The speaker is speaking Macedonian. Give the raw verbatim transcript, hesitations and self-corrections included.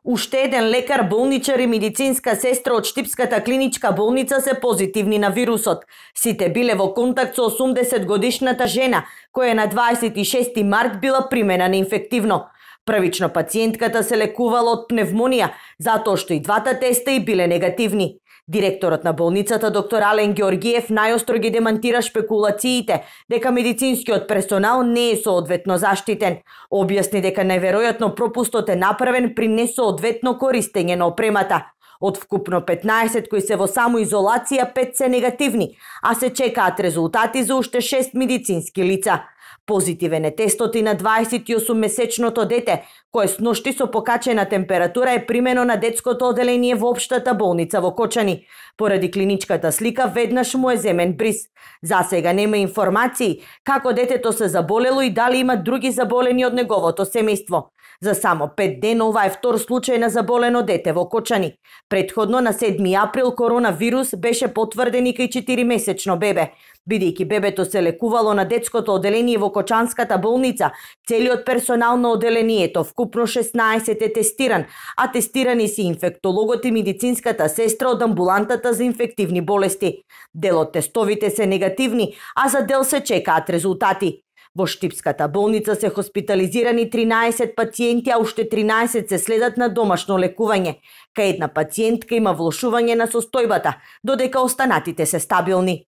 Уште еден лекар, болничар и медицинска сестра од Штипската клиничка болница се позитивни на вирусот. Сите биле во контакт со осумдесет годишната жена, која на дваесет и шести март била примена на инфективно. Првично пациентката се лекувала од пневмонија, затоа што и двата теста и биле негативни. Директорот на болницата доктор Ален Георгиев најостро ги демантира шпекулациите дека медицинскиот персонал не е соодветно заштитен. Објасни дека најверојатно пропустот е направен при несоодветно користење на опремата. Од вкупно петнаесет кои се во самоизолација, пет се негативни, а се чекаат резултати за уште шест медицински лица. Позитивен е тестот и на дваесет и осум месечното дете, кое сношти со покачена температура е примено на детското оделение во општата болница во Кочани. Поради клиничката слика веднаш му е земен бриз. За сега нема информации како детето се заболело и дали има други заболени од неговото семејство. За само пет дена ова е втор случај на заболено дете во Кочани. Предходно на седми април коронавирус беше потврден и кај четиримесечно бебе. Бидејќи бебето се лекувало на детското оделение во Кочанската болница, целиот персонал на оделението, вкупно шеснаесет, е тестиран, а тестирани се инфектологот и медицинската сестра од амбулантата за инфективни болести. Дел од тестовите се негативни, а за дел се чекаат резултати. Во Штипската болница се хоспитализирани тринаесет пациенти, а уште тринаесет се следат на домашно лекување. Кај една пациентка има влошување на состојбата, додека останатите се стабилни.